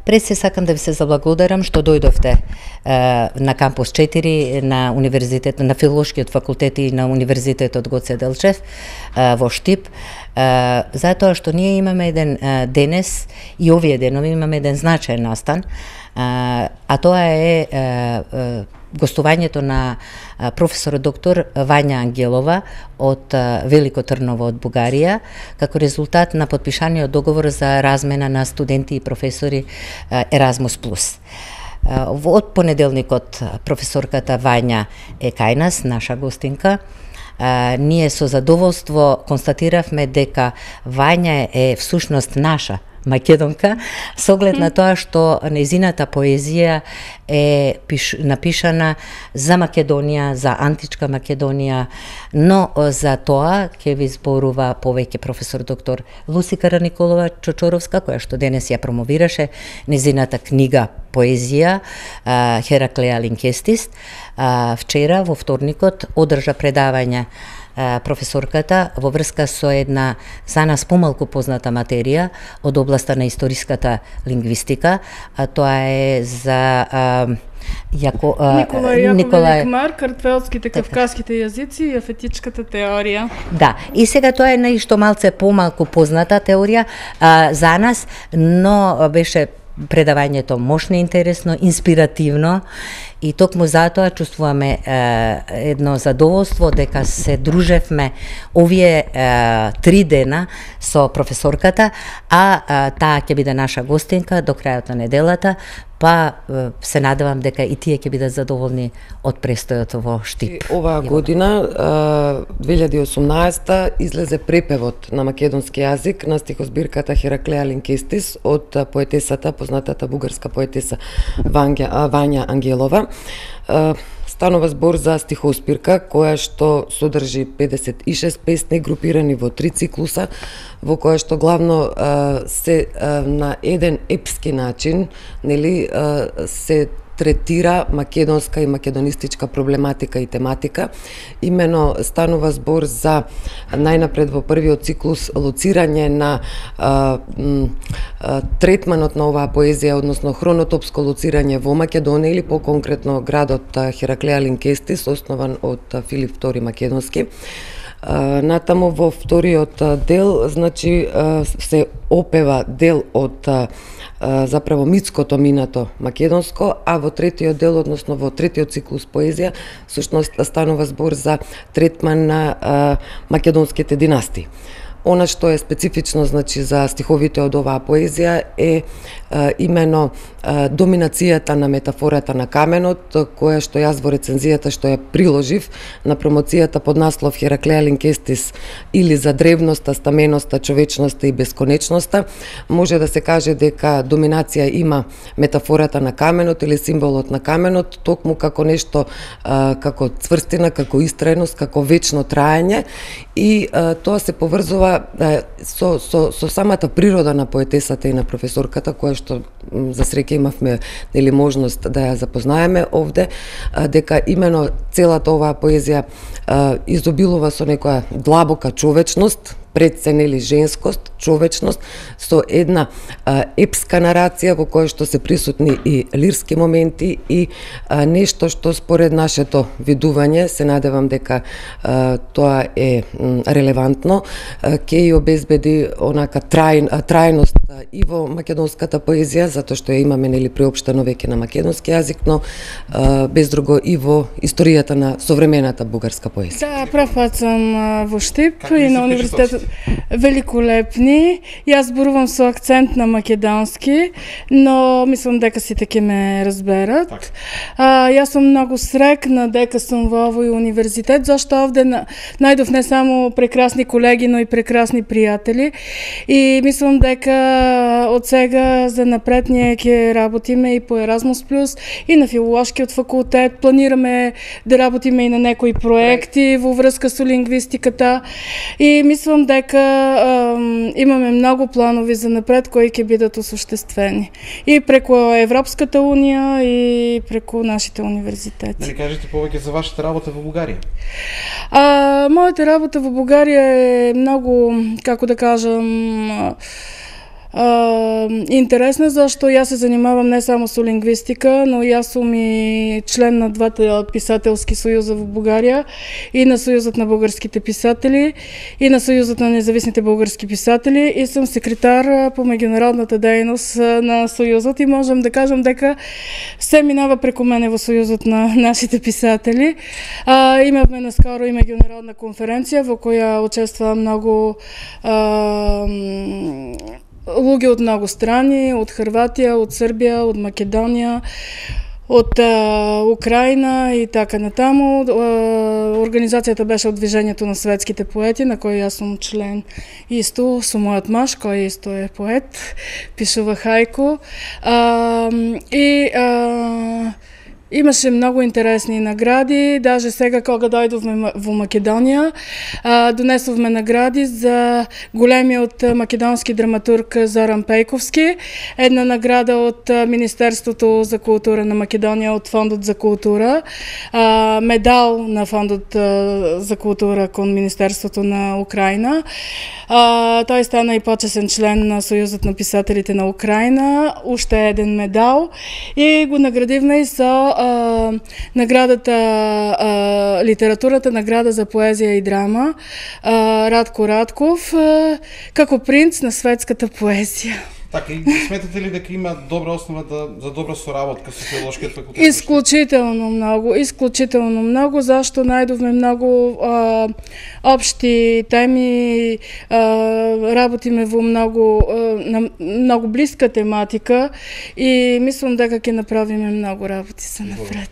Пред се сакам да ви се заблагодарам што дојдовте на кампус 4 на универзитет, на филолошкиот факултет и на универзитетот Гоце Делчев во Штип, затоа што ние имаме еден денес и овие денови имаме еден значаен настан, а тоа е гостувањето на професор доктор Вања Ангелова од Велико Трново од Бугарија, како резултат на подпишаниот договор за размена на студенти и професори Еразмус плюс. Од понеделникот професорката Вања е кај нас, наша гостинка. Ние со задоволство констатиравме дека Вања е всушност наша македонка, со оглед на тоа што нејзината поезија е напишана за Македонија, за античка Македонија, но за тоа ќе ви зборува повеќе професор доктор Лусика Николова Чочоровска, која што денес ја промовираше нејзината книга поезија Хераклеја Линкестис. Вчера, во вторникот, одржа предавање професорката во врска со една за нас помалку позната материја од областа на историската лингвистика, а тоа е за Николај Екмар, картвелските кавказските јазици и афетичката теорија. Да, и сега тоа е нешто малце помалку позната теорија за нас, но беше предавањето мощно интересно, инспиративно и токму затоа чувствуваме едно задоволство дека се дружевме овие 3 дена со професорката, а таа ќе биде наша гостинка до крајот на неделата, па се надевам дека и тие ќе бидат задоволни од престојот во Штип. Оваа година, 2018, излезе препевот на македонски јазик на стихозбирката Хераклеја Линкестис од поетесата, познатата бугарска поетеса Вања Ангелова. Станува збор за стихоспирка која што содржи 56 песни групирани во 3 циклуса, во која што главно се на еден епски начин, нели, се третира македонска и македонистичка проблематика и тематика. Имено станува збор за најнапред во првиот циклус лоцирање на третманот на оваа поезија, односно хронотопско лоцирање во Македонија или по-конкретно градот Хераклеја Линкестис, основан од Филип II Македонски. Натаму во вториот дел, значи, се опева дел од заправо митското минато македонско, а во третиот дел, односно во третиот циклус поезија, всушност станува збор за третман на македонските династии. Она што е специфично, значи, за стиховите од оваа поезија е именно доминацијата на метафората на каменот, која што јас во рецензијата што ја приложив на промоцијата под наслов Хераклеја Линкестис или за древноста, стаменоста, човечноста и бесконечноста, може да се каже дека доминација има метафората на каменот или символот на каменот, токму како нешто како цврстина, како истрајност, како вечно траење, и тоа се поврзува со самата природа на поетесата и на професорката, која што за среќа имавме, нели, можност да ја запознаеме овде, дека имено целата оваа поезија изобилува со некоја длабока човечност, пред се, нели, женскост, човечност, со една епска нарација во која што се присутни и лирски моменти и нешто што според нашето видување, се надевам дека тоа е релевантно, ќе ја обезбеди онака трајност и во македонската поезија, затоа што ја имаме, нели, приопштено веќе на македонски јазик, но без друго и во историјата на современата бугарска поезија. Да, прав пат сум во Штип и на универзитетот великолепни. Јас зборувам со акцент на македонски, но мислам дека сите ќе ме разберат. Јас сум многу срекна дека сум во овој универзитет, зашто овде најдов не само прекрасни колеги, но и прекрасни пријатели. И мислам дека од сега за напред ние ќе работиме и по Еразмус плюс и на филолошкиот факултет. Планираме да работиме и на некои проекти во врска со лингвистиката. И мислам дека имаме многу планови за напред кои ќе бидат осуштествени. И преку Европската унија и преку нашите универзитети. Дали кажете повеќе за вашата работа во Бугарија? Мојата работа во Бугарија е многу, како да кажам, Интересно зашто јас се занимавам не само со лингвистика, но јас сум и член на двата писателски сојуза во Бугарија, и на Сојузот на бугарските писатели, и на Сојузот на независните бугарски писатели, и сум секретар по меѓународната дејност на Сојузот, и можам да кажам дека се минава преку мене во Сојузот на нашите писатели. Имавме наскоро и меѓународна конференција во која учествува многу луѓе од многу страни, од Хрватија, од Србија, од Македонија, од Украина и така натаму. Организацијата беше од Движењето на светските поети, на кој јас сум член исто, со мојот маж, кој исто е поет, пишува хајку. Имаше многу интересни награди, даже сега кога дојдовме во Македонија, донесовме награди за големиот македонски драматург Зоран Пејковски, една награда од Министерството за култура на Македонија, од Фондот за култура, медал на Фондот за култура кон Министерството на Украина. Тој стана и почесен член на Сојузот на писателите на Украина, уште еден медал, и го наградивме и со наградата литературата, награда за поезија и драма, Радко Радков, како принц на светската поезија. Така, и сметате ли дека има добра основа за добра соработка со филолошкиот факултет? Исклучително многу, зашто најдовме многу општи теми, работиме во многу блиска тематика, и мислам дека ќе направиме многу работи за напред.